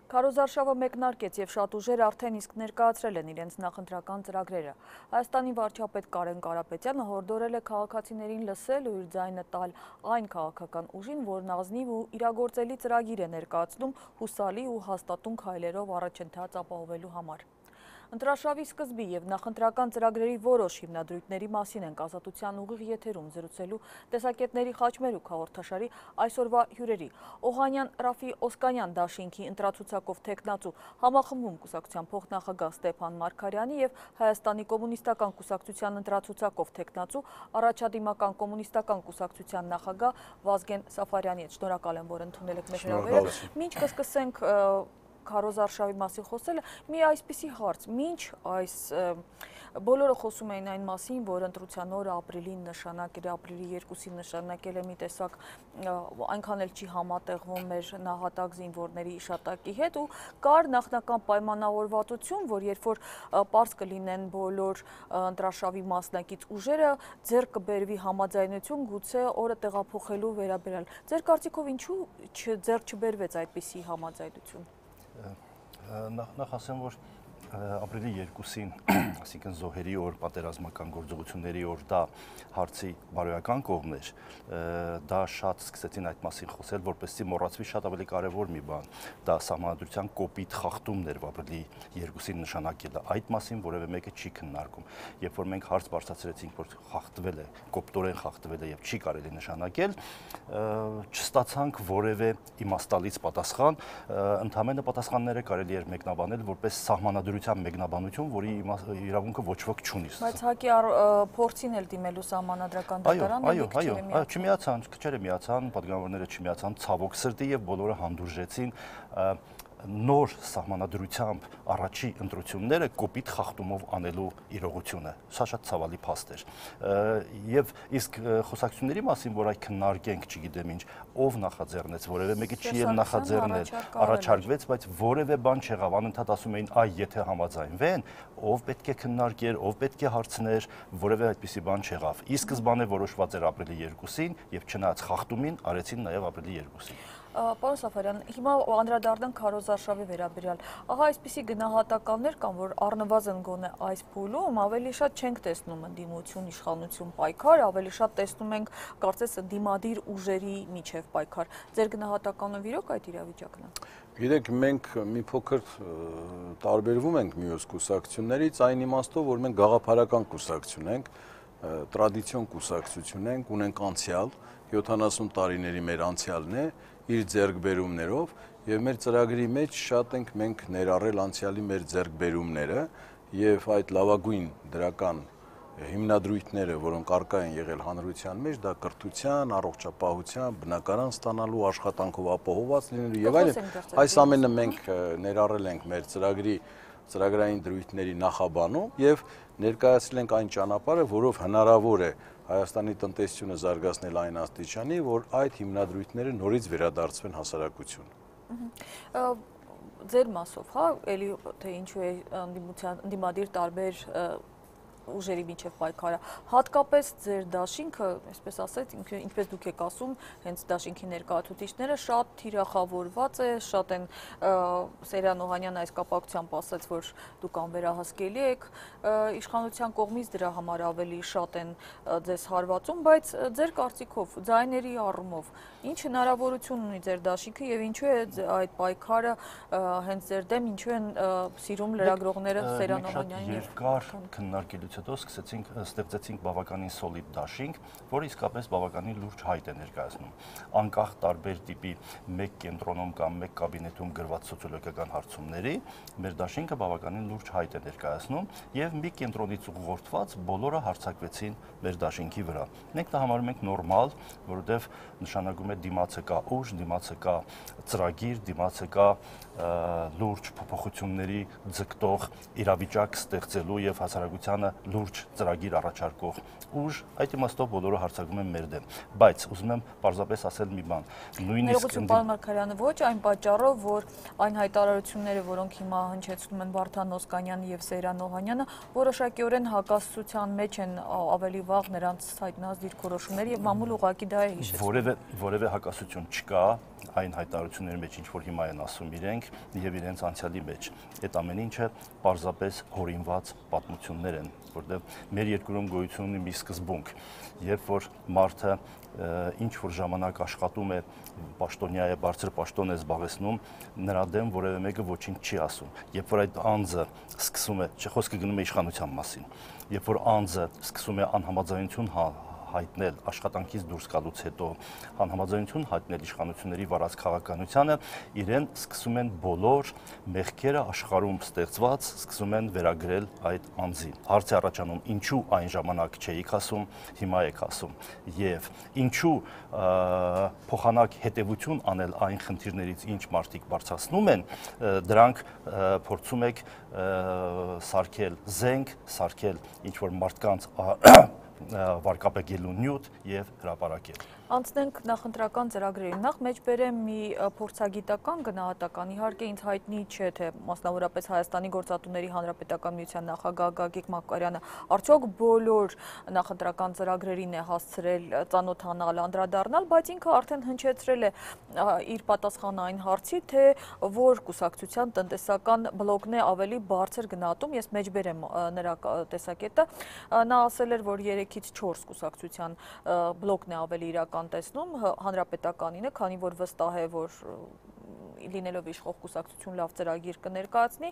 Քարոզարշավը մեկնարկեց եւ շատ ուժեր արդեն իսկ ներկայացրել են իրենց նախընտրական ծրագրերը։ Հայաստանի վարչապետ Կարեն Կարապետյանը հորդորել է քաղաքացիներին լսել ու իր ձայնը տալ այն քաղաքական ուժին, որն ազնիվ ու իրագործելի ծրագիր է ներկայացնում հուսալի ու հաստատուն քայլերով առաջընթաց ապահովելու համար։ Ընտրարշավի սկզբի եւ նախընտրական ծրագրերի որոշ հիմնադրույթների մասին ենք Ազատության ուղիղ եթերում զրուցելու տեսակետների խաչմերուկ հաղորդաշարի այսօրվա հյուրերի։ Օհանյան Ռաֆի Օսկանյան դաշինքի ընտրացուցակով թեկնածու համախմբում կուսակցության փոխնախագահ Ստեփան Մարգարյանի եւ Հայաստանի կոմունիստական կուսակցության ընտրացուցակով թեկնածու առաջադիմական կոմունիստական կուսակցության նախագահ Վազգեն Սաֆարյանի հետ։ Շնորհակալ եմ, որ ընդունել եք մեր հրավերը։ Մինչ կսկսենք քարոզարշավի մասին խոսելը, մի այսպիսի հարց, մինչ այս բոլորը խոսում էին այն մասին, որ ընտրության օրը ապրիլին նշանակել է, ապրիլի 2-ին նշանակել է մի տեսակ այնքան էլ չի համատեղվում մեր նահատակ զինվորների իշատակի հետ ու կար նախնական պայմանավորվածություն, որ երբ որ պարզ կլինեն բոլոր ընտրարշավի մասնակից ուժերը, ձեռք կբերվի համաձայնություն գուցե օրը տեղափոխելու վերաբերյալ։ Ձեր կարծիքով ինչու ձեռք չբերվեց այդպիսի համաձայնություն։ Նախ ասեմ, որ ապրիլի 2-ին, այսինքն զոհերի օր, պատերազմական գործողությունների օր, դա հարցի բարոյական կողմն էր, դա շատ սկսեցին այդ մասին խոսել, որպեսզի մոռացվի շատ ավելի կարևոր մի բան, դա սահմանադրության կոպիտ խախտումն էր ապրիլի 2-ին նշանակելը, այդ մասին որևէ մեկը չի քննարկում, երբ որ մենք հարց բարձրացրեցինք, որ խախտվել է, կոպտորեն խախտվել է եւ չի կարելի նշանակել, չստացանք որևէ իմաստալից պատասխան, ընդհանրապես պատասխանները կարելի էր մեկնաբանել որպես սահմանադրության մեկնաբանություն, որի իրավունքը ոչ ոք չունի։ Բայց ՀԱԿ-ի փորձին էլ դիմելու սահմանադրական դատարանը չմիացան, քչերը միացան, պատգամավորները չմիացան, ցավոք սրտի եւ բոլորը հանդուրժեցին նոր սահմանադրությամբ առաջի ընտրությունները կոպիտ խախտումով անելու իրողությունը։ Սա շատ ցավալի փաստ էր։ Եվ իսկ խոսակցությունների մասին, որ այդ քննարկենք, չգիտեմ ինչ, ով նախաձեռնեց, որևէ մեկը չի էլ նախաձեռնել, առաջարկվեց, բայց որևէ բան չեղավ, անընդհատ ասում էին, այ եթե համաձայնվեն, ով պետք է քննարկեր, ով պետք է հարցներ, որևէ այդպիսի բան չեղավ։ Ի սկզբանե որոշված էր ապրիլի 2-ին եւ չնայած խախտումին արեցին նաեւ ապրիլի 2-ին։ Պարոն Սաֆարյան, հիմա անդրադառնանք քարոզարշավի վերաբերյալ։ Ահա այսպիսի գնահատականներ կան, որ առնվազն գոնե այս փուլում ավելի շատ չենք տեսնում ընդդիմություն, իշխանություն պայքար, ավելի շատ տեսնում ենք կարծես ընդդիմադիր ուժերի միջև պայքար։ Ձեր գնահատականը իրոք այդ իրավիճակն է։ Գիտեք, մենք մի փոքր տարբերվում ենք մյուս կուսակցություններից այն իմաստով, որ մենք գաղափարական կուսակցություն ենք, տրադիցիոն կուսակցություն ենք, ունենք անցյալ, 70 տարիների մեր անցյալն է, իր ձեռքբերումներով եւ մեր ծրագրի մեջ շատ ենք մենք ներառել անցյալի մեր ձեռքբերումները եւ այդ լավագույն դրական հիմնադրույթները, որոնք առկա են եղել հանրության մեջ, դա կրթության, առողջապահության, բնակարան ստանալու, աշխատանքով ապահովված լինելու եւ այլն, այս ամենը մենք ներառել ենք մեր ծրագրի ծրագրային դրույթների նախաբանում եւ ներկայացրել ենք այն ճանապարհը, որով հնարավոր է Հայաստանի տնտեսությունը զարգացնել այն աստիճանի, որ այդ հիմնադրույթները նորից վերադարձվեն հասարակություն։ Ձեր մասով, հա, էլի թե ինչու է ընդդիմադիր տարբեր ուժերի միջև պայքարը, հատկապես ձեր դաշինքը, այսպես ասած, ինչպես դուք եք ասում, հենց դաշինքի ներկայացուցիչները շատ թիրախավորված է, շատ են Սերյան Օհանյանը այս կապակցությամբ ասաց, որ դուք անվերահսկելի եք, իշխանության կողմից դրա համար ավելի շատ են ձեզ հարվածում, բայց ձեր կարծիքով, ձայների առումով, ինչ հնարավորություն ունի ձեր դաշինքը եւ ինչու է այդ պայքարը հենց ձեր դեմ, ինչու են սիրում լրագրողները Սերյան Օհանյանին եւ քննարկելուց հետո ստեղծեցինք բավականին սոլիդ դաշինք, որը իսկապես բավականին լուրջ հայտ է ներկայացնում։ Անկախ տարբեր տիպի մեկ կենտրոնում կամ մեկ կաբինետում գրված սոցիոլոգիական հարցումների, մեր դաշինքը բավականին լուրջ հայտ է ներկայացնում եւ մի կենտրոնից ուղղորդված բոլորը հարձակվեցին մեր դաշինքի վրա։ Մենք դա համարում ենք նորմալ, որովհետեւ նշանակում է դիմացը կա ուժ, դիմացը կա ծրագիր, դիմացը կա լուրջ փոփոխությունների ձգտող իրավիճակ ստեղծելու եւ հասարակությանը լուրջ ծրագիր առաջարկող ուժ, այդ իմաստով բոլորը հարձակվում են մեր դեմ, բայց ուզում եմ պարզապես ասել մի բան, Ներողություն, պարոն Մարգարյանը, ոչ այն պատճառով, որ այն հայտարարությունները, որոնք հիմա հնչեցնում են Վարդան Օսկանյանը եւ Սեյրան Օհանյանը, որոշակիորեն հակասության մեջ են ավելի վաղ նրանց հայտնած դիրքորոշումները եւ մամուլ ուղղակի դա է հիշեցնում։ Որևէ հակասություն չկա այն հայտարարությունների մեջ, ինչ որ հիմա են ասում իրենք եւ իրենց անցյալի մեջ։ Այդ ամեն ինչը պարզապես հորինված պատմություններ են, որտեղ մեր երկրում գոյություն ունի մի սկզբունք, երբ որ մարդը ինչ որ ժամանակ աշխատում է, պաշտոնյա է, բարձր պաշտոն է զբաղեցնում, նրա դեմ որևէ մեկը ոչինչ չի ասում։ Երբ որ այդ անձը սկսում է, խոսքը գնում է իշխանության մասին, երբ որ անձը սկսում է անհամաձայնություն հայտնել աշխատանքից դուրս գալուց հետո, անհամաձայնություն հայտնել իշխանությունների վարած քաղաքականությանը, իրեն սկսում են բոլոր մեղքերը աշխարհում ստեղծված, սկսում են վերագրել այդ անձին։ Հարց է առաջանում, ինչու այն ժամանակ չէիք ասում, հիմա եք ասում, եւ ինչու փոխանակ հետևություն անել այն խնդիրներից, ինչ մարդիկ բարձրացնում են, դրանք փորձում եք սարքել զենք, սարքել ինչ որ մարդկանց վարկապեկելու նյութ եւ հրապարակել։ Անցնենք նախընտրական ծրագրերին։ Նախ մեջբերեմ մի փորձագիտական գնահատական։ Իհարկե ինձ հայտնի չէ, թե մասնավորապես Հայաստանի Գործատուների Հանրապետական միության նախագահ Գագիկ Մակարյանը արդյոք բոլոր նախընտրական ծրագրերին է հասցրել ծանոթանալ, անդրադառնալ, բայց ինքը արդեն հնչեցրել է իր պատասխանը այն հարցի, թե որ կուսակցության տնտեսական բլոկն է ավելի բարձր գնահատում։ Ես մեջբերեմ նրա տեսակետը։ Նա ասել էր, որ 3-ից 4 կուսակցության բլոկն է ավելի իրական տեսնում հանրապետականինը, քանի որ վստահ է, որ լինելով իշխող կուսակցություն լավ ծրագիր կներկայացնի,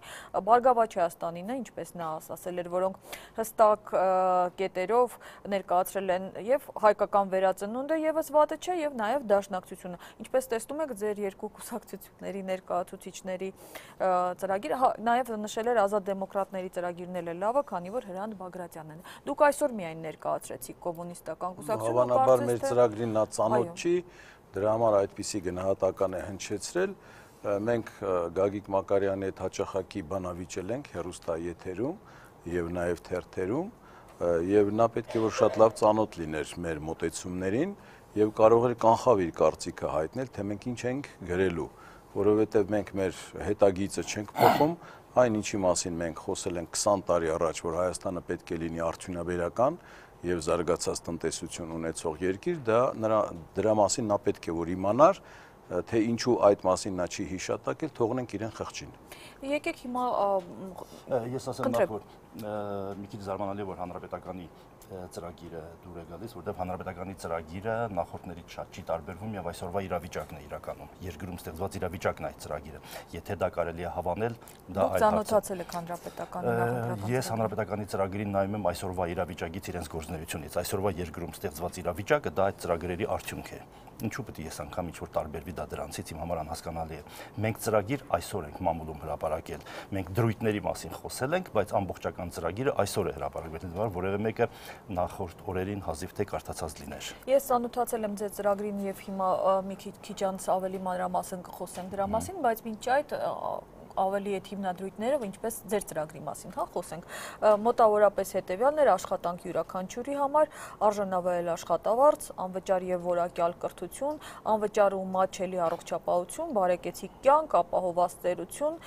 Բարգավաճ Հայաստանին է, ինչպես նա ասել էր, որոնք հստակ կետերով ներկայացրել են եւ հայկական վերածնունդը եւս վատը չէ եւ նաեւ դաշնակցությունը։ Ինչպես տեսնում եք, ձեր երկու կուսակցությունների ներկայացուցիչների ծրագիրը, նաեւ նշել էր ազատ դեմոկրատների ծրագիրն էլ է լավը, քանի որ Հրանտ Բագրատյանն է։ Դուք այսօր միայն ներկայացրեցիք կոմունիստական կուսակցությունը։ Հավանաբար մեր ծրագրին նա ծանոթ չի, դրա համար այդպիսի գնահատական է հնչեցրել։ Մենք Գագիկ Մակարյանի հետ հաճախակի բանավիճել ենք հեռուստաեթերում եւ նաեւ թերթերում, եւ նա պետք է որ շատ լավ ծանոթ լիներ մեր մոտեցումներին եւ կարող էր կանխավ իր կարծիքը հայտնել, թե մենք ինչ ենք գրելու, որովհետեւ մենք մեր հետագիծը չենք փոխում, այն ինչի մասին մենք խոսել ենք 20 տարի առաջ, որ Հայաստանը պետք է լինի արդյունաբերական եւ զարգացած տնտեսություն ունեցող երկիր, դրա մասին նա պետք է որ իմանար, թե ինչու այդ մասին նա չի հիշատակել, թողնենք իրեն խղճին։ Եկեք հիմա ես ասեմ նախ որ մի քիչ զարմանալի որ հանրապետականի ծրագիրը դուր է գալիս, որտեղ հանրապետականի ծրագիրը նախորդներից շատ չի տարբերվում եւ այսօրվա իրավիճակն է իրականում։ Երկրում ստեղծված իրավիճակն է այդ ծրագիրը։ Եթե դա կարելի է հավանել, դա այլ հարց է։ Դուք ծանոթացել եք հանրապետականի նախընտրական։ Ես հանրապետականի ծրագրին նայում եմ այսօրվա իրավիճակից իրենց գործունեությունից։ Այսօրվա երկրում ստեղծված իրավիճակը դա այդ ծրագրերի արդյունք է։ Ինչու պետք է ես անգամ ինչ որ տարբերվի դա դրանցից իմ համար անհասկանալի է։ Մենք ծրագիր այսօր ենք մամուլում հրապարակել։ Մենք դրույթների մասին խոսել ենք, բայց ամբողջական ծրագիրը այսօր է հրապարակվել, որևէ մեկը նախորդ օրերին հազիվ թե կարդացած լիներ։ Ես ծանոթացել եմ ձեր ծրագրին եւ հիմա մի քիչ անց ավելի մանրամասն կխոսեմ դրա մասին, բայց մինչ այդ ավելի այդ հիմնադրույթները, ինչպես ձեր ծրագրի մասին, հա, խոսենք։ Մոտավորապես հետևյալներ աշխատանք յուրաքանչյուրի համար, արժանավայել աշխատավարձ, անվճար եւ որակյալ կրթություն, անվճար ու մատչելի առողջապահություն, բարեկեցիկ կյանք, ապահովված ծերություն,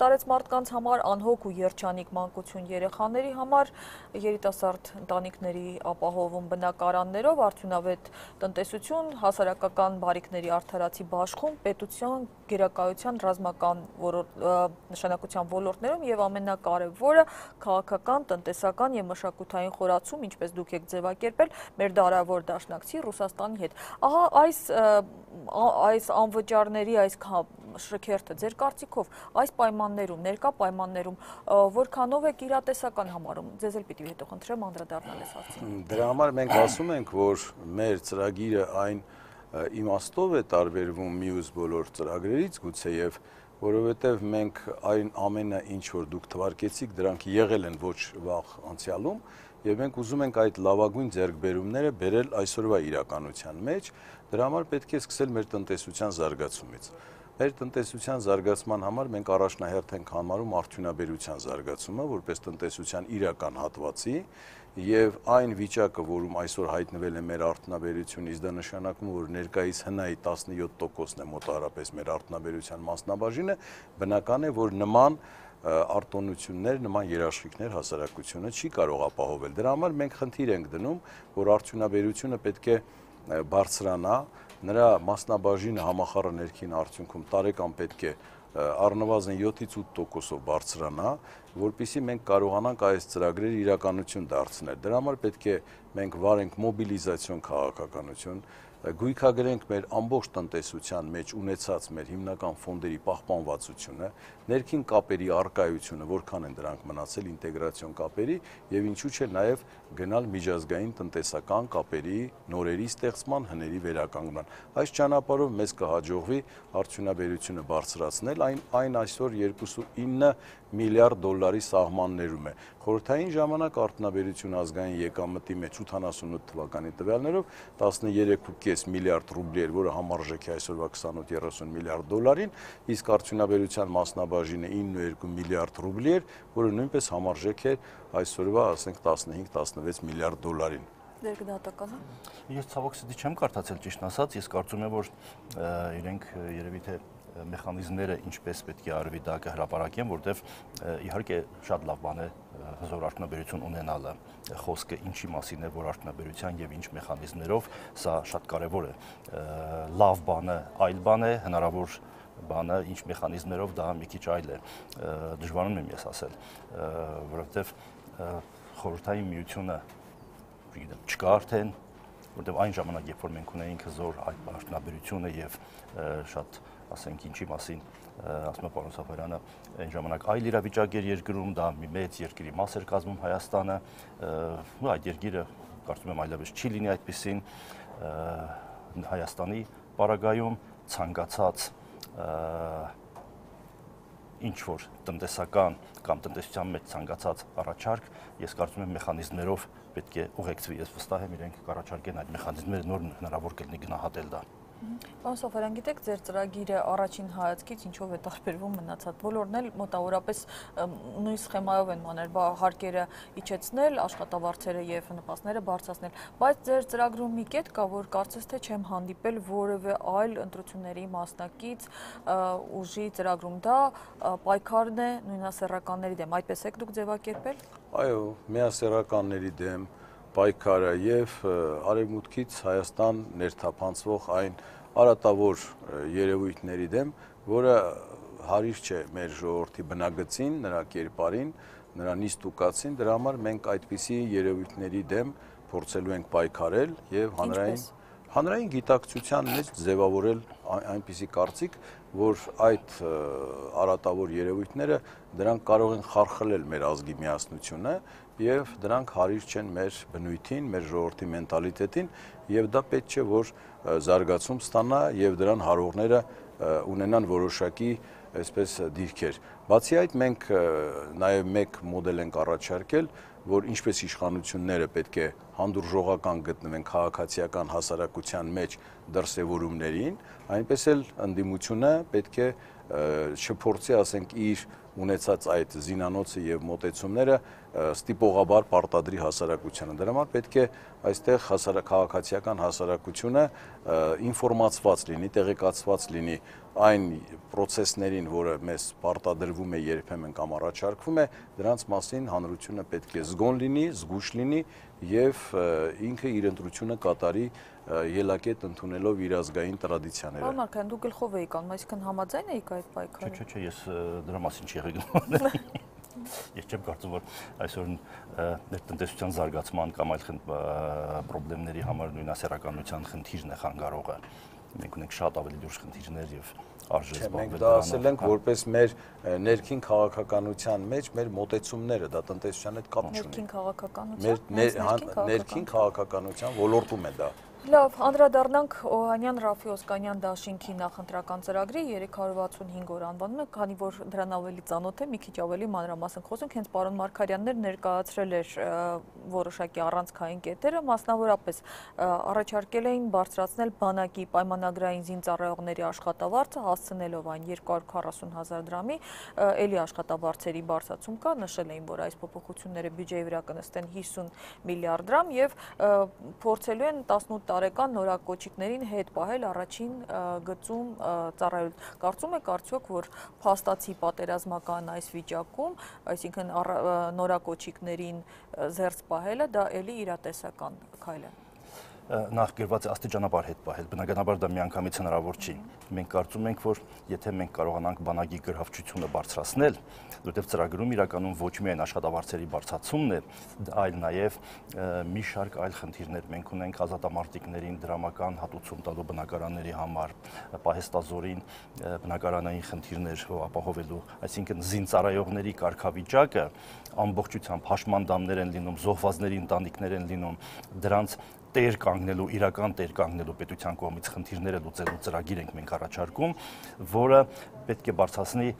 տարեց մարդկանց համար, անհոգ ու երջանիկ մանկություն երեխաների համար, երիտասարդ ընտանիքների ապահովում բնակարաններով, արդյունավետ տնտեսություն, հասարակական բարիքների արդարացի բաշխում, պետության գերակայության ռազմական նշանակության ոլորտներում եւ ամենակարևորը քաղաքական, տնտեսական եւ մշակութային խորացում, ինչպես դուք եք ձևակերպել, մեր դարավոր դաշնակցի Ռուսաստանի հետ։ Ահա այս անվճարների այս շքերթը ձեր կարծիքով այս պայմաններում, ներկա պայմաններում որքանով եք իրատեսական համարում։ Ձեզ էլ պիտի հետո խնդրեմ անդրադառնալ այս հարցին։ Դրա համար մենք ասում ենք, որ մեր ծրագիրը այն իմաստով է տարբերվում մյուս բոլոր ծրագրերից, գուցեև որովհետև մենք այն ամենը ինչ որ դուք թվարկեցիք, դրանք եղել են ոչ վաղ անցյալում, եւ մենք ուզում ենք այդ լավագույն ձեռքբերումները բերել այսօրվա իրականության մեջ, դրա համար պետք է սկսել մեր տնտեսության զարգացումից։ Մեր տնտեսության զարգացման համար մենք առաջնահերթ ենք համարում արդյունաբերության զարգացումը, որպես տնտեսության իրական հատվածի, եւ այն վիճակը, որում այսօր հայտնվել է մեր արդյունաբերությունը, դա նշանակում է, որ ներկայիս հնայի 17%-ն է մոտավորապես մեր արդյունաբերության մասնաբաժինը, բնական է, որ նման արտոնություններ, նման երաշխիքներ հասարակությունը չի կարող ապահովել։ Դրա համար մենք խնդիր ենք դնում, որ արդյունաբերությունը պետք է բարձրանա, նրա մասնաբաժինը համախառն ներքին արդյունքում տարեկան պետք է առնվազն 7-ից 8%-ով բարձրանա, որպեսզի մենք կարողանանք այս ծրագրերը իրականություն դարձնել։ Դրա համար պետք է մենք վարենք մոբիլիզացիոն քաղաքականություն, գույքագրենք մեր ամբողջ տնտեսության մեջ ունեցած մեր հիմնական ֆոնդերի պահպանվածությունը, ներքին կապերի առկայությունը, որքան են դրանք մնացել ինտեգրացիոն կապերի եւ ինչու՞ չէ նաեւ գնալ միջազգային տնտեսական կապերի նորերի ստեղծման, հների վերականգնման։ Այս ճանապարհով մեզ կհաջողվի արդյունաբերությունը բարձրացնել, այն այսօր 2.9 միլիարդ դոլարի սահմաններում է։ Խորհրդային ժամանակ արդյունաբերությունը ազգային եկամտի մեջ 88 թվականի տվյալներով 13.5 միլիարդ ռուբլի էր, որը համարժեք է այսօրվա 28-30 միլիարդ դոլարին, իսկ արդյունաբերության մասնաբաժինը 9.2 միլիարդ ռուբլի էր, որը նույնպես համարժեք է այսօրվա, ասենք 15-16 միլիարդ դոլարին։ Ձեր գնահատականը։ Ես ցավոք սրտի չեմ կարդացել ճիշտ ասած, ես կարծում եմ, որ իրենք երևի թե մեխանիզմները ինչպես պետք է արվի դա կհրապարակեն, որտեվ իհարկե շատ լավ բան է հզոր արդյունաբերություն ունենալը, խոսքը ինչի մասին է, որ արդյունաբերության եւ ինչ մեխանիզմներով, սա շատ կարեւոր է։ Լավ բանը այլ բան է, հնարավոր բանը ինչ մեխանիզմներով դա մի քիչ այլ է։ Դժվարանում եմ ես ասել, որովհետեւ խորհրդային միությունը չկա արդեն, որտեւ այն ժամանակ, երբ որ մենք ունեինք հզոր արդյունաբերությունը եւ շատ, ասենք, ինչի մասին, ասում է պարոն Սաֆարյանը, այն ժամանակ այլ իրավիճակ էր երկրում, դա մի մեծ երկրի մաս էր կազմում Հայաստանը, այդ երկիրը կարծում եմ այլևս չի լինի այդպիսին, Հայաստանի պարագայում ցանկացած ինչ որ տնտեսական կամ տնտեսության մեջ ցանկացած առաջարկ, ես կարծում եմ մեխանիզմներով պետք է ուղեկցվի, ես վստահ եմ իրենք կառաջարկեն այդ մեխանիզմները, նոր հնարավոր կլինի գնահատել դա։ Պարոն Սաֆարյան, գիտեք, ձեր ծրագիրը առաջին հայացքից ինչով է տարբերվում մնացած բոլորն էլ մոտավորապես նույն սխեմայով են մաներ, հարկերը իջեցնել, աշխատավարձերը եւ նպաստները բարձրացնել, բայց ձեր ծրագրում մի կետ կա, որ կարծես թե չեմ հանդիպել որևէ այլ ընտրությունների մասնակից ուժի ծրագրում, դա պայքարն է նույնասեռականների դեմ, այդպես եք դուք ձևակերպել։ Այո, միասեռականների դեմ պայքարը եւ արևմուտքից Հայաստան ներթափանցվող այն արատավոր երևույթների դեմ, որը հարիր չէ մեր ժողովրդի բնագծին, նրա կերպարին, նրա նիստուկացին, դրա համար մենք այդպիսի երևույթների դեմ փորձելու ենք պայքարել եւ հանրային գիտակցության մեջ ձևավորել այնպիսի կարծիք, որ այդ արատավոր երևույթները դրանք կարող են խարխլել մեր ազգի միասնությունը եւ դրանք հարիր չեն մեր բնույթին, մեր ժողովրդի մենտալիտետին եւ դա պետք չէ որ զարգացում ստանա եւ դրան հարողները ունենան որոշակի այսպես դիրքեր։ Բացի այդ մենք նաեւ մեկ մոդել ենք առաջարկել, որ ինչպես իշխանությունները պետք է հանդուրժողական գտնվեն քաղաքացիական հասարակության մեջ դրսևորումներին, այնպես էլ ընդդիմությունը պետք է չփորձի, ասենք, իր ունեցած այդ զինանոցը եւ մոտեցումները ստիպողաբար պարտադրի հասարակությանը։ Դրա համար պետք է այստեղ քաղաքացիական հասարակությունը ինֆորմացված լինի, տեղեկացված լինի այն process-ներին, որը մեզ պարտադրվում է երբեմն կամ առաջարկվում է, դրանց մասին հանրությունը պետք է զգոն լինի, զգուշ լինի եւ ինքը իր ընտրությունը կատարի ելակետ ընդունելով իր ազգային տրադիցիաները։ Պարոն Մարկյան, դուք գլխով էիք անում, այսինքն համաձայն էիք այդ պայքարի։ Չէ, ես դրա մասին չի եղել։ Ես չեմ կարծում, որ այսօր ներտնտեսության զարգացման կամ այլ խնդիրների համար նույնասեռականության խնդիրն է խանգարողը։ Մենք ունենք շատ ավելի լուրջ խնդիրներ եւ արժե զբաղվել։ Մենք դա ասել ենք որպես մեր ներքին քաղաքականության մեջ մեր մոտեցումները, դա տնտեսության հետ կապ չունի։ Ներքին քաղաքականության, ներքին քաղաքականության ոլորտում է դա։ Լավ, անդրադառնանք Օհանյան Ռաֆի Օսկանյան դաշինքի նախընտրական ծրագրի 365 օր անվանումը, քանի որ դրան ավելի ծանոթ է, մի քիչ ավելի մանրամասն խոսենք, հենց պարոն Մարգարյանն ներկայացրել էր որոշակի առանցքային կետերը, մասնավորապես առաջարկել էին բարձրացնել բանակի պայմանագրային զինծառայողների աշխատավարձը, հասցնելով այն 240,000 դրամի, էլի աշխատավարձերի բարձրացում կա, նշել էին, որ այս փոփոխությունները բյուջեի վրա կնստեն 50 միլիարդ դրամ եւ փորձելու են 18 տարեկան նորակոչիկներին հետ պահել առաջին գծում ծառայել։ Կարծում եք արդյոք, որ փաստացի պատերազմական այս վիճակում, այսինքն նորակոչիկներին զերծ պահելը դա էլի իրատեսական քայլ է։ Նախ գրված է աստիճանաբար հետ պահել, բնականաբար դա միանգամից հնարավոր չի։ Մենք կարծում ենք, որ եթե մենք կարողանանք բանակի գրավչությունը բարձրացնել, որտեղ ծրագրում իրականում ոչ միայն աշխատավարձերի բարձրացումն է, այլ նաև մի շարք այլ խնդիրներ մենք ունենք ազատամարտիկներին դրամական հատուցում տալու բնակարանների համար, պահեստազորին բնակարանային խնդիրներ ապահովելու, այսինքն զինծառայողների կարգավիճակը ամբողջությամբ հաշմանդամներ են լինում, զոհվածների ընտանիքներ են լինում, դրանց տեր կանգնելու, իրական տեր կանգնելու պետության կողմից խնդիրները լուծելու ծրագիր ենք մենք առաջարկում, որը պետք է բարձրացնի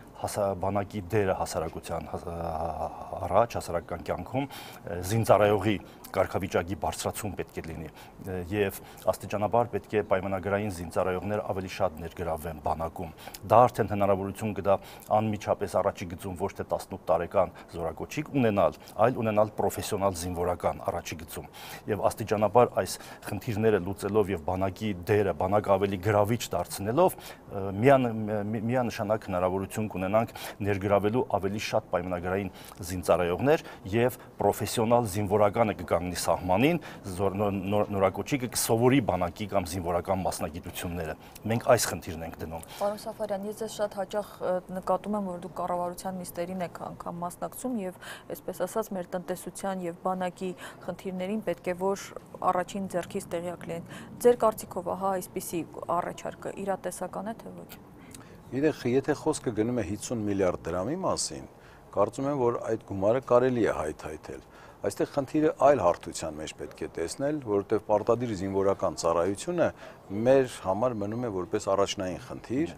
բանակի դերը հասարակության առաջ, հասարակական կյանքում, զինծառայողի կարգավիճակի բարձրացում պետք է լինի եւ աստիճանաբար պետք է պայմանագրային զինծառայողներ ավելի շատ ներգրավվեն բանակում։ Դա արդեն հնարավորություն կտա անմիջապես առաջի գծում ոչ թե 18 տարեկան զորակոչիկ ունենալ, այլ ունենալ պրոֆեսիոնալ զինվորական առաջի գծում։ Եվ աստիճանաբար այս խնդիրները լուծելով եւ բանակի դերը, բանակը ավելի գրավիչ դարձնելով միանշանակ հնարավորություն կունենանք ներգրավելու ավելի շատ պայմանագրային զինծառայողներ եւ պրոֆեսիոնալ զինվորականը կգանգնի սահմանին, նորակոչիկը կսովորի բանակի կամ զինվորական մասնագիտությունները։ Մենք այս խնդիրն ենք դնում։ Պարոն Սաֆարյան, ես ձեզ շատ հաճախ նկատում եմ, որ դուք կառավարության նիստերին եք անգամ մասնակցում եւ այսպես ասած մեր տնտեսության եւ բանակի խնդիրներին պետք է որ առաջին ձեռքից տեղյակ լինեն։ Ձեր կարծիքով ահա այսպիսի առաջարկը իրատեսական է թե ոչ։ Եթե խոսքը գնում է 50 միլիարդ դրամի մասին, կարծում եմ, որ այդ գումարը կարելի է հայթայթել։ Այստեղ խնդիրը այլ հարթության մեջ պետք է տեսնել, որովհետև պարտադիր զինվորական ծառայությունը մեր համար մնում է որպես առաջնային խնդիր,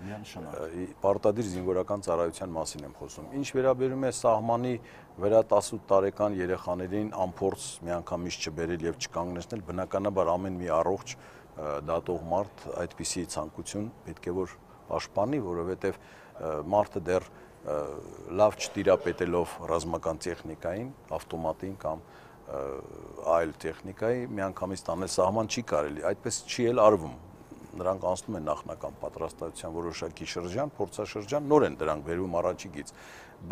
պարտադիր զինվորական ծառայության մասին եմ խոսում։ Ինչ վերաբերում է սահմանի վրա 18 տարեկան երեխաներին անփորձ միանգամից չբերել եւ չկանգնեցնել, բնականաբար ամեն մի առողջ դատող մարդ այդպիսի ցանկություն պետք է որ պաշտպանի, որովհետև մարդը դեռ լավ չտիրապետելով ռազմական տեխնիկային, ավտոմատին կամ այլ տեխնիկայի միանգամից տանել սահման չի կարելի, այդպես չի էլ արվում։ Նրանք անցնում են նախնական պատրաստության որոշակի շրջան, փորձաշրջան, նոր են դրանք վերում առաջիկից։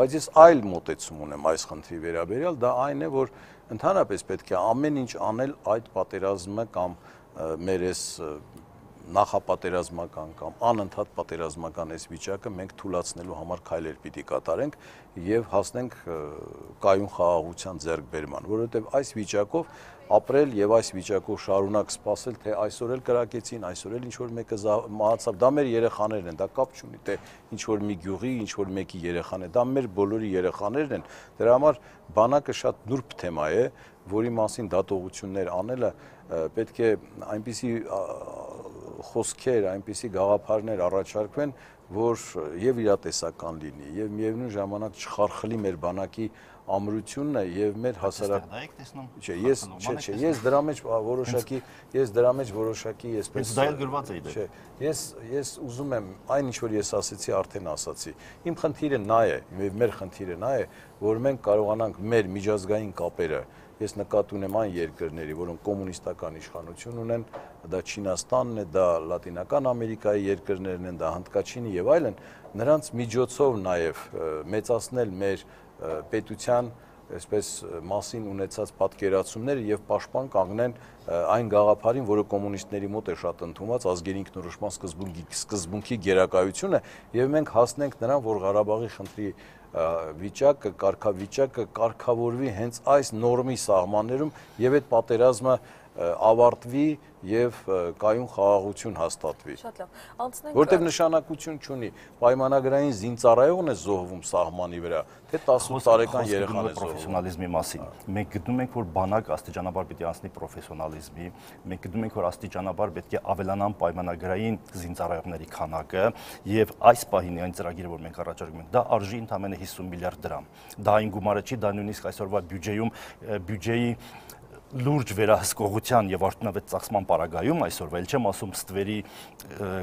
Բայց ես այլ մոտեցում ունեմ այս խնդրի վերաբերյալ, դա այն է, որ ընդհանրապես պետք է ամեն ինչ անել այդ պատերազմը կամ մեր այս նախապատերազմական կամ անընդհատ պատերազմական այս վիճակը մենք թույլատնելու համար քայլեր պիտի կատարենք եւ հասնենք կայուն խաղաղության ձեռքբերման, որովհետեւ այս վիճակով ապրել եւ այս վիճակով շարունակ սպասել, թե այսօր էլ կրակեցին, այսօր էլ ինչ որ մեկը մահացավ, դա մեր երեխաներն են, դա կապ չունի, թե ինչ որ մի գյուղի, ինչ որ մեկի երեխան է, դա մեր բոլորի երեխաներն են։ Դրա համար բանակը շատ նուրբ թեմա է, որի մասին դատողություններ անելը պետք է այնպիսի խոսքեր, այնպիսի գաղափարներ առաջարկվեն, որ եւ իրատեսական լինի, եւ միևնույն ժամանակ չխարխլի մեր բանակի ամրությունը եւ մեր հասարակ։ Ես դրա մեջ որոշակի այսպես դա էլ գրված է չէ, ես ուզում եմ այն ինչ որ ես ասացի, արդեն ասացի։ Իմ խնդիրը նա է, մեր խնդիրը նա է, որ մենք կարողանանք մեր միջազգային կապերը ես նկատի ունեմ այն երկրների, որոնք կոմունիստական իշխանություն ունեն, դա Չինաստանն է, դա Լատինական Ամերիկայի երկրներն են, դա Հնդկաչինը եւ այլն, նրանց միջոցով նաեւ մեծացնել մեր պետության այսպես մասին ունեցած պատկերացումները եւ պաշտպան կանգնեն այն գաղափարին, որը կոմունիստների մոտ է շատ ընդունված ազգերի ինքնորոշման սկզբունքի գերակայությունը եւ մենք հասնենք նրան, որ Ղարաբաղի խնդրի վիճակը, կարգավիճակը կարգավորվի հենց այս նորմի սահմաններում եւ այդ պատերազմը ավարտվի եւ կայուն խաղաղություն հաստատվի։ Շատ լավ։ Անցնենք Որտեւ նշանակություն չունի պայմանագրային զինծառայողն է զոհվում սահմանի վրա, թե 18 տարեկան երեխան է զոհվում։ Պրոֆեսիոնալիզմի մասին։ Մենք գտնում ենք, որ բանակ աստիճանաբար պետք է անցնի պրոֆեսիոնալիզմի, մենք գտնում ենք, որ աստիճանաբար պետք է ավելանան պայմանագրային զինծառայողների քանակը եւ այս պահին այն ծրագիրը, որ մենք առաջարկում ենք, դա արժի ընդամենը 50 միլիարդ դրամ։ Դա այն գումարը չի, դա նույնիսկ այսօրվա բյուջեի լուրջ վերահսկողության եւ արդյունավետ ծախսման պարագայում այսօրվա էլ չեմ ասում ստվերի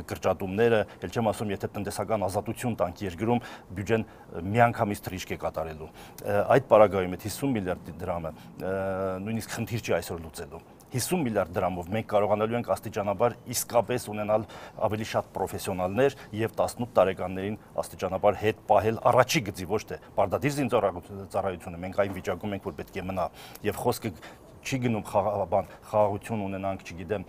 կրճատումները, էլ չեմ ասում եթե տնտեսական ազատություն տանք երկրում, բյուջեն միանգամից թռիչք է կատարելու։ Այդ պարագայում այդ 50 միլիարդ դրամը նույնիսկ խնդիր չի այսօր լուծելու։ 50 միլիարդ դրամով մենք կարողանալու ենք աստիճանաբար իսկապես ունենալ ավելի շատ պրոֆեսիոնալներ եւ 18 տարեկաններին աստիճանաբար հետ պահել առաջի գծի, ոչ թե պարտադիր զինծառայությունը։ Մենք այն վիճակում ենք, որ պետք է մնա եւ խոսքը չի գնում խաղաղություն ունենանք, չգիտեմ,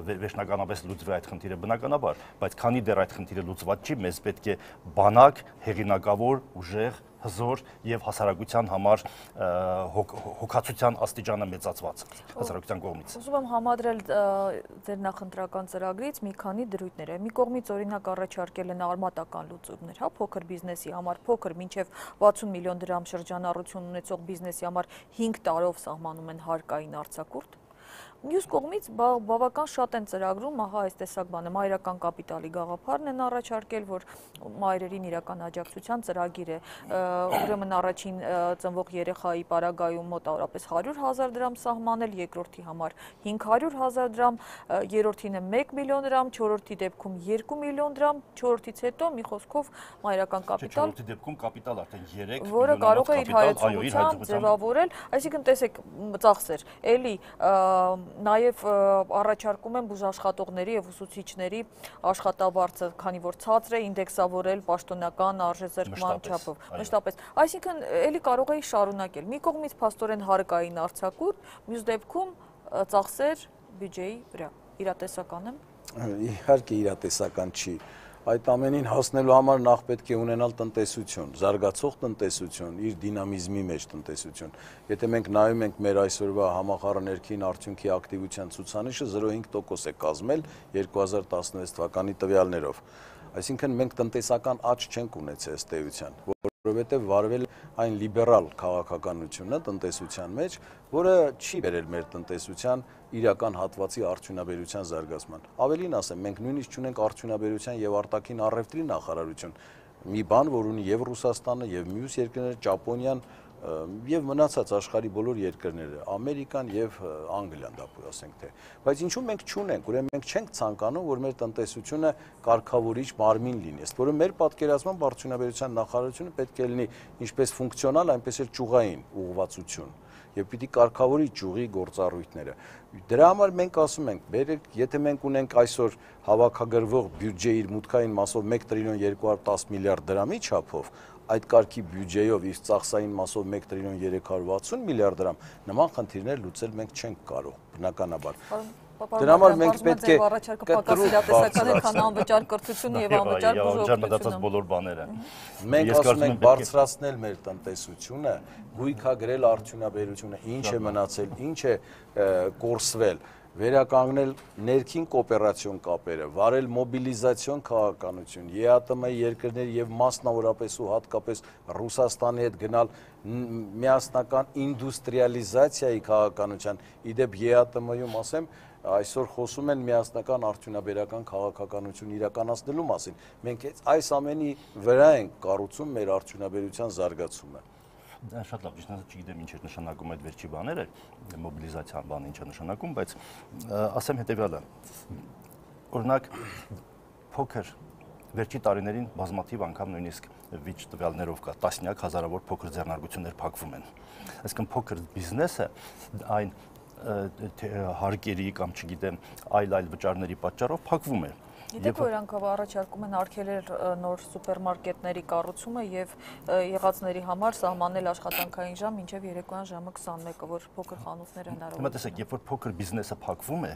վերջնականապես լուծվի այդ խնդիրը բնականաբար, բայց քանի դեռ այդ խնդիրը լուծված չի, մեզ պետք է բանակ, հեղինակավոր, ուժեղ, հզոր եւ հասարակության համար հոգացության աստիճանը մեծացված հասարակության կողմից։ Ուզում եմ համադրել ձեր նախընտրական ծրագրից մի քանի դրույթներ։ Մի կողմից օրինակ առաջարկել են արմատական լուծումներ, հա, փոքր բիզնեսի համար, փոքր մինչև 60 միլիոն դրամ շրջանառություն ունեցող բիզնեսի համար 5 տարով սահմանում են հարկային արձակուրդ։ Մյուս կողմից բավական շատ են ծրագրում, ահա այս տեսակ բանը, մայրական կապիտալի գաղափարն են առաջարկել, որ մայրերին իրական աջակցության ծրագիր է, ուրեմն առաջին ծնվող երեխայի պարագայում մոտավորապես 100,000 դրամ սահմանել, երկրորդի համար 500,000 դրամ, երրորդինը 1 միլիոն դրամ, չորրորդի դեպքում 2 միլիոն դրամ, չորրորդից հետո մի խոսքով մայրական կապիտալ, չորրորդի դեպքում կապիտալ արդեն 3 որը կարող է իր հայեցողությամբ ձևավորել, այսինքն տեսեք ծախսեր, էլի նաև առաջարկում են բուժաշխատողների եւ ուսուցիչների աշխատավարձը, քանի որ ցածր է ինդեքսավորել պաշտոնական արժեզրկման չափով։ Մշտապես, այսինքն էլի կարող էի շարունակել։ Մի կողմից փաստորեն հարկային արձակուրդ, մյուս դեպքում ծախսեր բյուջեի վրա։ Իրատեսական եմ։ Իհարկե իրատեսական չի։ Այդ ամենին հասնելու համար նախ պետք է ունենալ տնտեսություն, զարգացող տնտեսություն, իր դինամիզմի մեջ տնտեսություն։ Եթե մենք նայում ենք մեր այսօրվա համախառն ներքին արդյունքի ակտիվության ցուցանիշը 0.5% է կազմել 2016 թվականի տվյալներով։ Այսինքն մենք տնտեսական աճ չենք ունեցել ըստ էության, որովհետև վարվել այն լիբերալ քաղաքականությունը տնտեսության մեջ, որը չի բերել մեր տնտեսության իրական հատվածի արդյունաբերության զարգացման։ Ավելին ասեմ, մենք նույնիսկ չունենք արդյունաբերության եւ արտաքին առևտրի նախարարություն, մի բան, որ ունի եւ Ռուսաստանը, եւ մյուս երկրները, Ճապոնիան եւ մնացած աշխարհի բոլոր երկրները, Ամերիկան եւ Անգլիան, դա ասենք թե։ Բայց ինչու մենք չունենք, ուրեմն մենք չենք ցանկանում, որ մեր տնտեսությունը կարգավորիչ մարմին լինի։ Ըստ որում մեր պատկերացմամբ արդյունաբերության նախարարությունը պետք է լինի ինչպես ֆունկցիոնալ, այնպես էլ ճյուղային ուղղվածություն եւ պիտի կարգավորի ճյուղի գործառույթները։ Դրա համար մենք ասում ենք, բերեք, եթե մենք ունենք այսօր հավաքագրվող բյուջեի իր մուտքային մասով 1 տրիլիոն 210 միլիարդ դրամի չափով, այդ կարգի բյուջեով իր ծախսային մասով 1 տրիլիոն 360 միլիարդ դրամ, նման խնդիրներ լուծել մենք չենք կարող, բնականաբար։ Դրա համար մենք պետք է պակաս իրատեսական է, քան անվճար կրթությունը եւ անվճար բուժօգնությունը։ բոլոր բաները։ Մենք ասում ենք բարձրացնել մեր տնտեսությունը, գույքագրել արդյունաբերությունը, ինչ է մնացել, ինչ է կորսվել, վերականգնել ներքին կոոպերացիոն կապերը, վարել մոբիլիզացիոն քաղաքականություն, ԵԱՏՄ-ի երկրների եւ մասնավորապես ու հատկապես Ռուսաստանի հետ գնալ միասնական ինդուստրիալիզացիայի քաղաքականության, իդեպ ԵԱՏՄ-ում ասեմ, այսօր խոսում են միասնական արդյունաբերական քաղաքականություն իրականացնելու մասին։ Մենք այս ամենի վրա ենք կառուցում մեր արդյունաբերության զարգացումը։ Դա շատ լավ, ճիշտ ասած չգիտեմ ինչ է նշանակում այդ վերջի բաները, մոբիլիզացիան բանը ինչ է նշանակում, բայց ասեմ հետեւյալը։ Օրինակ փոքր վերջի տարիներին բազմաթիվ անգամ նույնիսկ վիճ տվյալներով կա, տասնյակ հազարավոր փոքր ձեռնարկություններ փակվում են։ Այսինքն փոքր բիզնեսը այն հարկերի կամ չգիտեմ այլ վճարների պատճառով փակվում է։ Գիտեք, որ անգամ առաջարկում են արգելել նոր սուպերմարկետների կառուցումը եւ եղածների համար սահմանել աշխատանքային ժամ մինչեւ երեկոյան ժամը 21-ը, որ փոքր խանութները հնարավոր։ Հիմա տեսեք, երբ որ փոքր բիզնեսը փակվում է,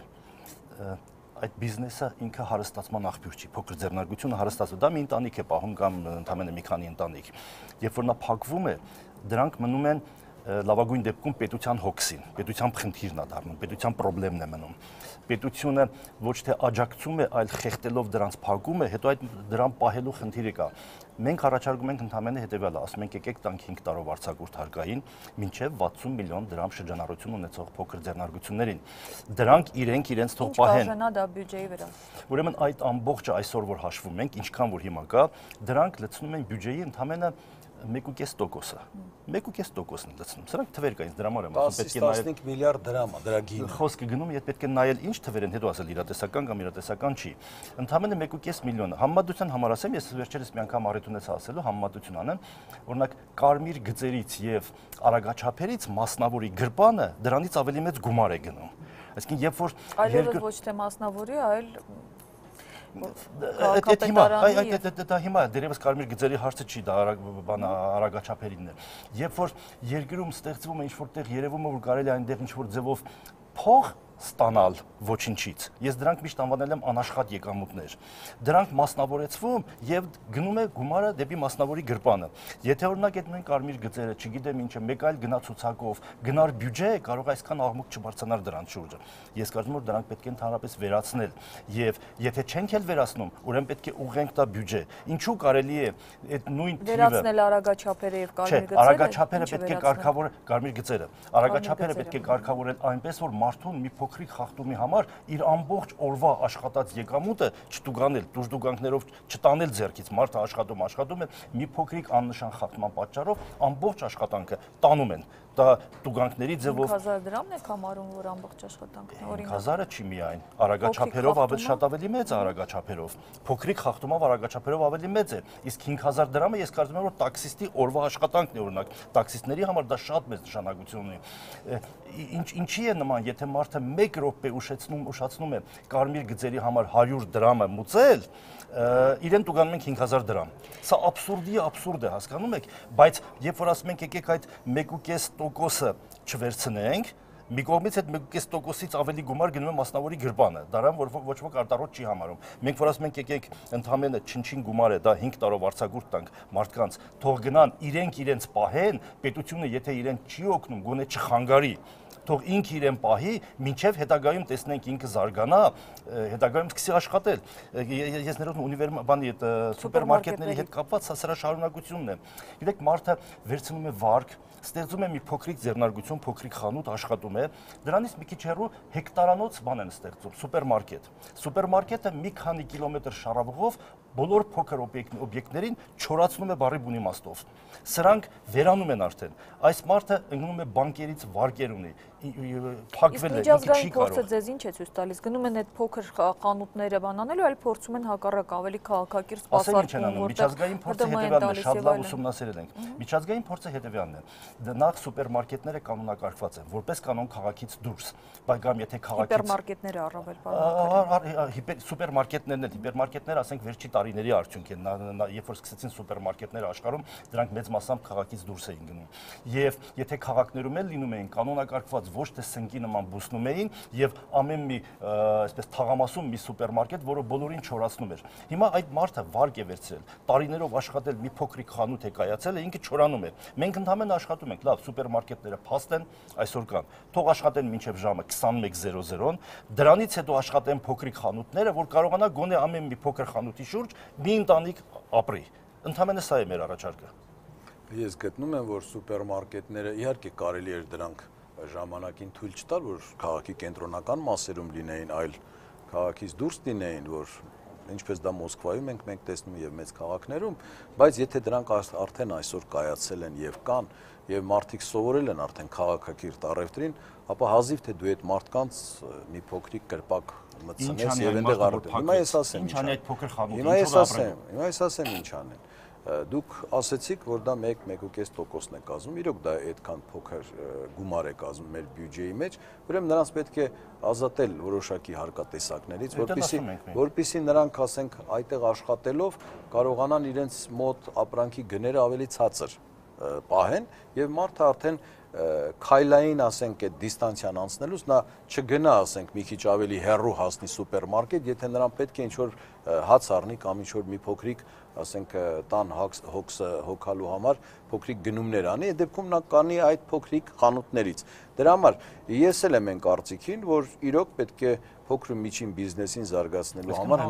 այդ բիզնեսը ինքը հարստացման աղբյուր չի, փոքր ձեռնարկությունը հարստացում, դա մի ընտանիք է պահում կամ ընդամենը մի քանի ընտանիք։ Երբ որ նա փակվում է, դրանք մնում են լավագույն դեպքում պետության հոգսին, պետության խնդիրն է դառնում, պետության խնդիրն է մնում։ Պետությունը ոչ թե աջակցում է, այլ խեղդելով դրանց փակում է, հետո այդ դրան պահելու խնդիրը կա։ Մենք առաջարկում ենք ընդհանրապես հետևյալը, ասում ենք եկեք տանք 5 տարով արձակուրդ հարկային, մինչև 60 միլիոն դրամ շրջանառություն ունեցող փոքր ձեռնարկություններին։ Դրանք իրենց թող պահեն։ Ինչ բաժանա դա բյուջեի վրա։ Ուրեմն այդ ամբողջը այսօր որ հաշվում ենք, ինչքան որ հիմա կա, դրանք լցնում են բյուջեի ընդհանրապես 1.5%-ը։ 1.5%-ն լցնում։ Սրանք թվեր կա, ինձ դրա համար եմ ասում, պետք է նայել 15 միլիարդ դրամ է, դրա գինը։ Խոսքը գնում, եթե պետք է նայել ինչ թվեր են, հետո ասել իրատեսական կամ իրատեսական չի։ Ընդհանրապես 1.5 միլիոն։ Համեմատության համար ասեմ, ես վերջերս մի անգամ առիթ ունեցա ասելու, համեմատություն անեմ, օրինակ կարմիր գծերից եւ արագաչափերից մասնավորի գրպանը դրանից ավելի մեծ գումար է գնում։ Այսինքն երբ որ այլևս ոչ թե մասնավորի, այլ դա հիմա դերևս կարմիր գծերի հարցը չի, դա արագաչափերինն է։ Երբ որ երկրում ստեղծվում է ինչ-որտեղ երևում է, որ կարելի է այնտեղ ինչ-որ ձևով փող ստանալ ոչինչից։ Ես դրանք միշտ անվանել եմ անաշխատ եկամուտներ։ Դրանք մասնավորեցվում եւ գնում է գումարը դեպի մասնավորի գրպանը։ Եթե օրինակ այդ նույն կարմիր գծերը, չգիտեմ ինչը, մեկ այլ գնացուցակով գնար բյուջե, կարող է այսքան աղմուկ չբարձրանար դրանց շուրջը։ Ես կարծում եմ, որ դրանք պետք է ընդհանրապես վերացնել եւ եթե չենք էլ վերացնում, ուրեմն պետք է ուղղենք դա բյուջե։ Ինչու կարելի է այդ նույն թիվը վերացնել արագաչափերը եւ կարմիր գծերը։ Արագաչափերը պետք է կարգավորել կարմիր գծերը։ Արագաչափերը պետք է կարգավորել այնպես, որ մարդուն մի փոքրիկ խախտումի համար իր ամբողջ օրվա աշխատած եկամուտը չտուգանել, դժդուգանքներով չտանել ձեռքից, մարդը աշխատում է, մի փոքրիկ աննշան խախտման պատճառով ամբողջ աշխատանքը տանում են։ Դա տուգանքների ձևով 5000 դրամն է համարում, որ ամբողջ աշխատանքն է, օրինակ 5000-ը չի միայն, արագաչափերով ավելի մեծ է արագաչափերով, փոքրիկ խախտումով արագաչափերով ավելի մեծ է, իսկ 5000 դրամը ես կարծում եմ, որ տաքսիստի օրվա աշխատանքն է, օրինակ, տաքսիստների համար դա շատ մեծ նշանակություն ունի։ Ինչի է նման, եթե մարդը 1 րոպե ուշացնում է կարմիր գծերի համար 100 դրամը մուծել, իրեն տուգանում ենք 5000 դրամ։ Սա աբսուրդ է, հասկանում եք, բայց երբ որ ասում ենք եկեք այդ 1.5%-ը չվերցնենք, մի կողմից այդ 1.5%-ից ավելի գումար գնում է մասնավորի գրպանը, դրան որ ոչ ոք արտարոտ չի համարում։ Մենք որ ասում ենք եկեք ընդհանրապես չնչին գումար է, դա 5 տարով արձակուրդ տանք մարդկանց, թող գնան իրենց պահեն, պետությունը եթե իրեն չի օգնում, գոնե չխանգարի, թող ինքը իրեն պահի, մինչև հետագայում տեսնենք ինքը զարգանա, հետագայում սկսի աշխատել։ Ես ներողություն սուպերմարկետների հետ կապված սրա շարունակությունն է։ Գիտեք, մարդը վերցնում է վարկ, ստեղծում է մի փոքրիկ ձեռնարկություն, փոքրիկ խանութ աշխատում է, դրանից մի քիչ հեռու հեկտարանոց բան են ստեղծում, սուպերմարկետ։ Սուպերմարկետը մի քանի կիլոմետր շարավղով բոլոր փոքր օբյեկտներին չորացնում է բառի բուն իմաստով։ Սրանք վերանում են արդեն։ Այս մարդը ընկնում է բանկերից վարկեր ունի, փակվել է, միջազգային փորձը ձեզ ինչ է ցույց տալիս։ Գնում են այդ փոքր խանութները բանանելու, այլ փորձում են հակառակ ավելի քաղաքակիրթ սպասարկում, միջազգային փորձը հետևյալն է, շատ լավ ուսումնասիրել ենք։ Միջազգային փորձը հետևյալն է։ Նախ սուպերմարկետները կանոնակարգված են, որպես կանոն քաղաքից դուրս, բայց եթե քաղաքից հիպերմարկետները առավել սուպերմարկետներն են, հիպերմարկետները, ասենք, վերջի տարիների արդյունք են, երբ որ սկսեցին սուպերմարկետները աշխարհում, դրանք մեծ մասամբ քաղաքից դուրս էին գնում։ Եվ եթե քաղաքներում էլ լինում էին կանոնակարգված, ոչ թե սնկի նման բուսնում էին եւ ամեն մի այսպես թաղամասում մի սուպերմարկետ, որը բոլորին չորացնում էր։ Հիմա այդ մարդը վարկ է վերցրել, տարիներով աշխատել մի փոքրիկ խանութ է կայացել, ինքը չորանում է։ Մենք ընդհանրապես աշխատում ենք, լավ, սուպերմարկետները փաստ են, այսօր կան։ Թող աշխատեն մինչև ժամը 21:00-ն, դրանից հետո աշխատեն փոքրիկ խանութները, որ կարողանա գոնե ամեն մի փոքր խանութի շուրջ մի ընտանիք ապրի։ Ընդհանրապես սա է մեր առաջարկը։ Ես գտնում եմ, որ սուպերմարկետները իհարկե կարելի էր դրանք ժամանակին թույլ չտալ, որ քաղաքի կենտրոնական մասերում լինեին, այլ քաղաքից դուրս լինեին, որ ինչպես դա Մոսկվայում մենք տեսնում եւ մեծ քաղաքներում, բայց եթե դրանք արդեն այսօր կայացել են եւ կան եւ մարդիկ սովորել են արդեն քաղաքակիրթ առևտրին, ապա հազիվ թե դու այդ մարդկանց մի փոքրիկ կրպակ մտցնես եւ այնտեղ առևտրին։ Հիմա ես ասեմ, ինչ անի այդ փոքր խանութը, հիմա ես ասեմ ինչ անեն։ Դուք ասեցիք, որ դա 1.5%-ն է կազմում, իրոք դա այդքան փոքր գումար է կազմում մեր բյուջեի մեջ, ուրեմն նրանց պետք է ազատել որոշակի հարկատեսակներից, որպեսզի նրանք, ասենք, այդտեղ աշխատելով կարողանան իրենց մոտ ապրանքի գները ավելի ցածր պահեն եւ մարդը արդեն քայլային, ասենք, այդ դիստանցիան անցնելուց նա չգնա, ասենք, մի քիչ ավելի հեռու հասնի սուպերմարկետ, եթե նրան պետք է ինչ-որ հաց առնի կամ ինչ-որ մի փոքրիկ, ասենք, տան հոգսը հոգալու համար փոքրիկ գնումներ անի, այդ դեպքում նա կանի այդ փոքրիկ խանութներից։ Դրա համար ես էլ եմ այն կարծիքին, որ իրոք պետք է փոքր ու միջին բիզնեսին զարգացնելու համար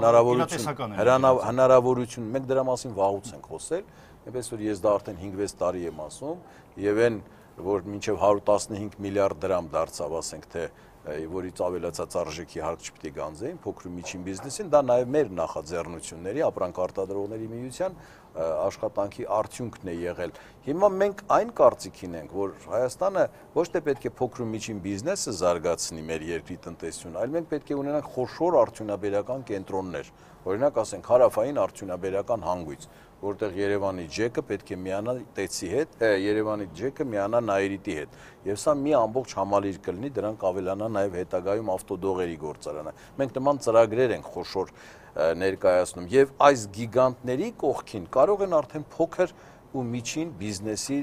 հնարավորություն, մենք դրա մասին վաղուց ենք խոսել, այնպես որ ես դա արդեն 5-6 տարի եմ ասում, եւ այն որ մինչև 115 միլիարդ դրամ դարձավ, ասենք թե որից ավելացած արժեքի հարկ չպետք է գանձեին փոքր ու միջին բիզնեսին, դա նաև մեր նախաձեռնությունների, ապրանք արտադրողների միության աշխատանքի արդյունքն է եղել։ Հիմա մենք այն կարծիքին ենք, որ Հայաստանը ոչ թե պետք է փոքր ու միջին բիզնեսը զարգացնի մեր երկրի տնտեսությունը, այլ մենք պետք է ունենանք խոշոր արդյունաբերական կենտրոններ, օրինակ ասենք հարավային արդյունաբերական հանգույց, որտեղ Երևանի ջեկը պետք է միանա Տեցի հետ, Երևանի ջեկը միանա Նայիրիտի հետ։ Եվ սա մի ամբողջ համալիր կլինի, դրանք ավելանա նաև հետագայում ավտոդողերի գործարանը։ Մենք նման ծրագրեր ենք խոշոր ներկայացնում եւ այս գիգանտների կողքին կարող են արդեն փոքր ու միջին բիզնեսի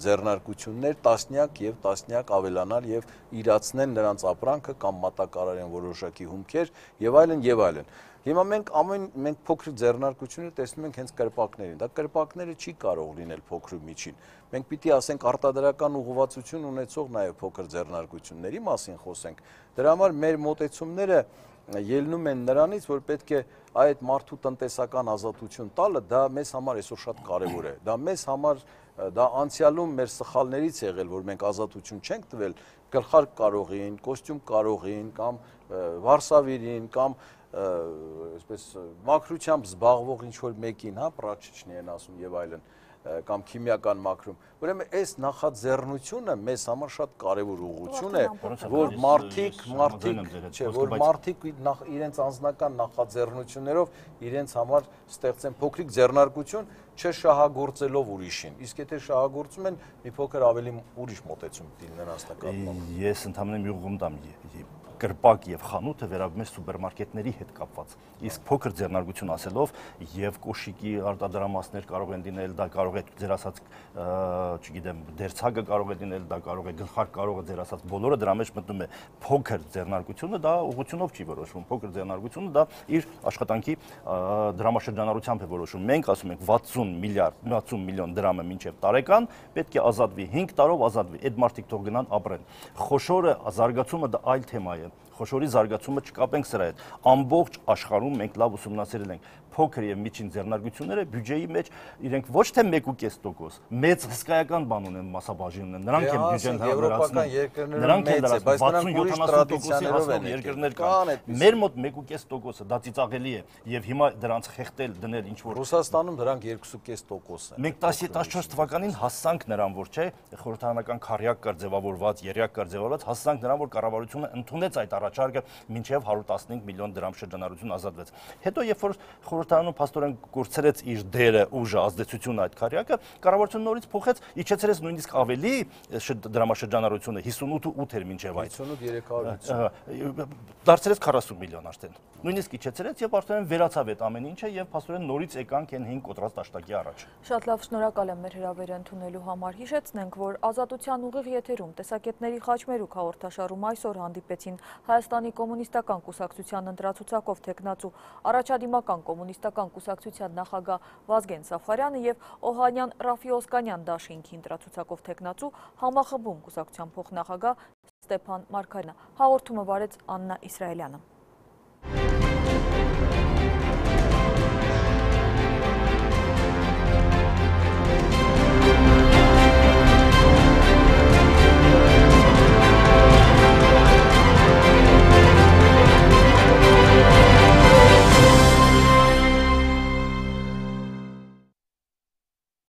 ձեռնարկություններ տասնյակ եւ տասնյակ ավելանալ եւ իրացնել նրանց ապրանքը կամ մատակարարեն որոշակի հումքեր եւ այլն եւ այլն։ Հիմա մենք փոքր ձեռնարկությունները տեսնում ենք հենց կրպակներին։ Դա կրպակները չի կարող լինել փոքր ու միջին։ Մենք պիտի ասենք արտադրական ուղղվածություն ունեցող նաեւ փոքր ձեռնարկությունների մասին խոսենք։ Դրա համար մեր մոտեցումները ելնում են նրանից, որ պետք է այդ մարդու տնտեսական ազատություն տալը, դա մեզ համար այսօր շատ կարևոր է։ Դա մեզ համար դա անցյալում մեր սխալներից եղել, որ մենք ազատություն չենք տվել գլխարկ կարողին, կոստյում կարողին կամ վարսավիրին կամ այսպես մաքրությամբ զբաղվող ինչ-որ մեկին, հա, պրաչիչնի են ասում եւ այլն, կամ քիմիական մաքրում։ Ուրեմն այս նախաձեռնությունը մեզ համար շատ կարևոր ուղղություն է, որ մարդիկ իրենց անձնական նախաձեռնություններով իրենց համար ստեղծեն փոքրիկ ձեռնարկություն, չշահագործելով ուրիշին։ Իսկ եթե շահագործում են, մի փոքր ավելի ուրիշ մոտեցում պիտի լինեն անձնակազմով։ Ես ընդհանրապես մի ուղղում տամ կրպակ եւ խանութը վերաբերում է սուպերմարկետների հետ կապված։ Իսկ փոքր ձեռնարկություն ասելով եւ կոշիկի արտադրամասներ կարող են լինել, դա կարող է ձեր ասած, չգիտեմ, դերցագը կարող է լինել, դա կարող է գլխարկ, կարող է ձեր ասած բոլորը դրա մեջ մտնում է փոքր ձեռնարկությունը, դա ուղղությունով չի որոշվում։ Փոքր ձեռնարկությունը դա իր աշխատանքի դրամաշրջանառությամբ է որոշվում։ Մենք ասում ենք 60 միլիոն դրամը մինչև տարեկան պետք է ազատվի, 5 տարով ազատվի։ Այդ մարդիկ թող գնան ապրեն։ Խոշորը զարգացումը դա այլ թեմա է։ Խոշորի զարգացումը չկապենք սրա հետ։ Ամբողջ աշխարհում մենք լավ ուսումնասիրել ենք փոքր եւ միջին ձեռնարկությունները բյուջեի մեջ իրենք ոչ թե 1.5%, մեծ հսկայական բան ունեն, մասաբաժին ունեն, նրանք են բյուջեն հարաբերացնում, նրանք են դարձնում 60-70%-ի երկրներ կան, մեր մոտ 1.5%-ը դա ծիծաղելի է եւ հիմա դրանց խեղտել դնել ինչ որ Ռուսաստանում դրանք 2.5% են։ Մենք 14 թվականին հասանք նրան, որ չէ, խորհրդարանական քարյակ կար ձևավորված, երյակ կար ձևավորված, հասանք նրան, որ կառավարությունը ընդունեց այդ առաջարկը մինչև 115 միլիոն դրամ շրջանառություն ազատվեց։ Հետո երբ որ խորհրդարանում փաստորեն կորցրեց իր դերը, ուժը, ազդեցությունը այդ քարյակը, կառավարությունը նորից փոխեց, իջեցրեց նույնիսկ ավելի դրամաշրջանառությունը 58 էր մինչև այդ 58-350 դարձրեց 40 միլիոն արդեն։ Նույնիսկ իջեցրեց եւ արդեն վերացավ այդ ամեն ինչը եւ փաստորեն նորից եկանք այն 5 կոտրած տաշտակի առաջ։ Շատ լավ, շնորհակալ եմ մեր հրավերը ընդունելու համար։ Հիշեցնենք, որ Ազատության ուղիղ եթերում տեսակետների խաչմերուկ հաղորդաշարում այսօր հանդիպեցին Հայաստանի կոմունիստական կուսակցության ընտրացուցակով թեկնածու առաջադիմական կոմունիստական կուսակցության նախագահ Վազգեն Սաֆարյանը եւ Օհանյան Ռաֆի Օսկանյան դաշինքի ընտրացուցակով թեկնածու համախմբում կուսակցության փոխնախագահ Ստեփան Մարգարյանը։ Հաղորդումը վարեց Աննա Իսրայելյանը։